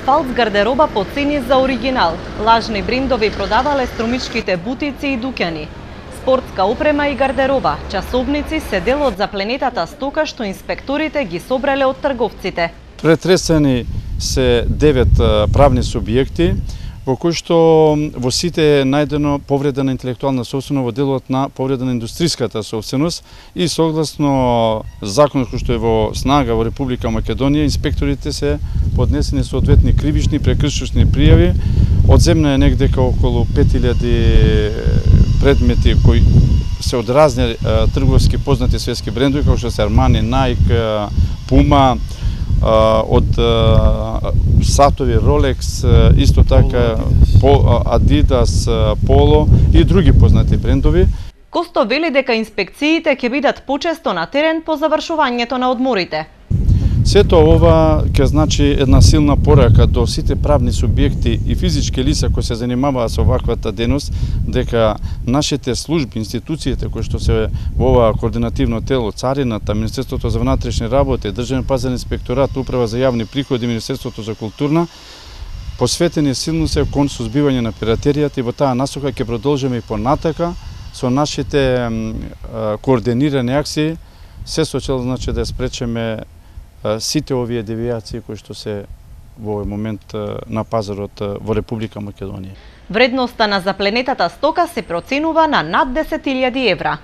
фалц гардероба по цени за оригинал. Лажни брендови продавале струмичките бутици и дуќани. Спортска опрема и гардероба, часовници се дел од запленетата стока што инспекторите ги собрале од трговците. Претресени се 9 правни субјекти, во кои што во сите е најдено повреда на интелектуална собственост во делот на повреда на индустриската собственост и согласно законот кој што е во снага во Република Македонија, инспекторите се поднесени соодветни кривични и прекршочни пријави. Одземна е негдека околу 5000 предмети кои се од разни трговски познати светски брендови, како што се Armani, Nike, Puma, од сатови Rolex, исто така Adidas, Polo и други познати брендови. Косто вели дека инспекциите ќе бидат почесто на терен по завршувањето на одморите. Сето ова ќе значи една силна порака до сите правни субјекти и физички лица кои се занимаваат со ваквата дејност, дека нашите служби, институциите кои што се во ова координативно тело, Царината, Министерството за внатрешни работи, Државен пазарен инспекторат, Управа за јавни приходи, Министерството за култура, посветени силно се кон сузбивање на пиратеријата и во таа насока ќе продолжиме и понатака со нашите координирани акции, се со цел значи да спречиме сите овие девијации кои што се во овој момент на пазарот во Република Македонија. Вредноста на запленетата стока се проценува на над 10.000 евра.